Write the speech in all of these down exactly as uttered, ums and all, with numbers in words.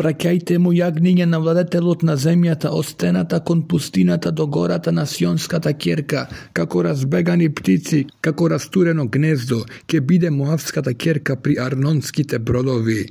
Праќајте му јагниње на владетелот на земјата од стената кон пустината до гората на Сионската ќерка, како разбегани птици, како растурено гнездо, ќе биде Моавската ќерка при Арнонските бродови.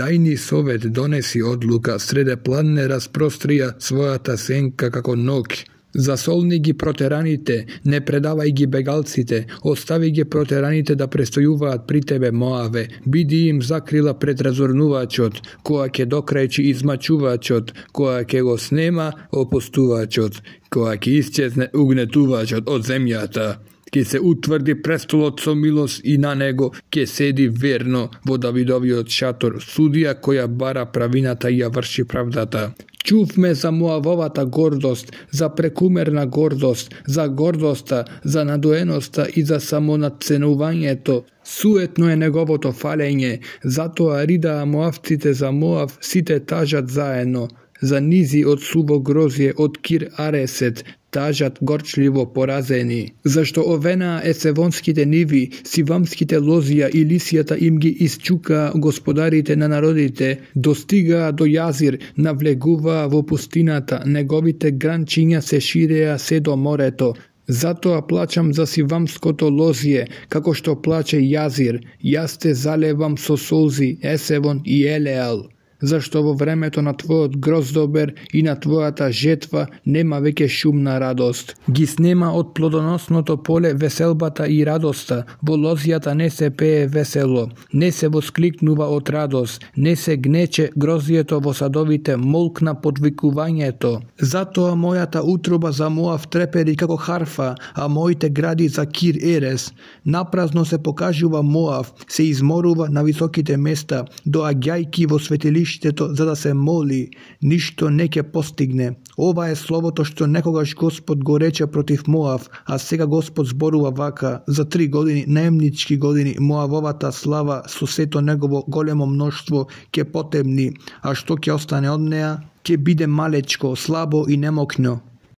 Дај ни совет, донеси одлука, среде планне распрострија својата сенка како ног. Засолни ги протераните, не предавај ги бегалците, остави ги протераните да престојуваат при тебе, Моаве, биди им закрила пред разорнувачот, која ќе докрајчи измачувачот, која ќе го снема опустувачот, која ќе исчезне угнетувачот од земјата. Ке се утврди престолот со милост и на него ке седи верно во Давидовиот шатор, судија која бара правината и ја врши правдата. Чувме за Моавовата гордост, за прекумерна гордост, за гордоста, за надоеноста и за самонадценувањето. Суетно е неговото фалење, затоа ридаа Моавците за Моав, сите тажат заедно. За низи од суво грозје од Кир Аресет, тажат горчливо поразени. Зашто овенаа есевонските ниви, сивамските лозија и лисијата им ги исчукаа господарите на народите, достигаа до јазир, навлегуваа во пустината, неговите гранчиња се ширеа се до морето. Затоа плачам за сивамското лозје, како што плаче јазир, јас те залевам со солзи, Есевон и Елеал. Зашто во времето на твојот гроздобер и на твојата жетва нема веќе шумна радост. Ги снема од плодоносното поле веселбата и радоста, во лозјата не се пее весело, не се воскликнува од радост, не се гнече гроздјето во садовите, молкна подвикувањето. Затоа мојата утроба за Моав трепери како харфа, а моите гради за Кир Ерес. Напразно се покажува Моав, се изморува на високите места, доаѓајки во светилиште за да се моли, ништо не ќе постигне. Ова е словото што некогаш Господ го рече против Моав, а сега Господ зборува вака: за три години, наемнички години, Моавовата слава со сето негово големо мноштво ќе потемни, а што ќе остане од неа? Ќе биде малечко, слабо и немокно.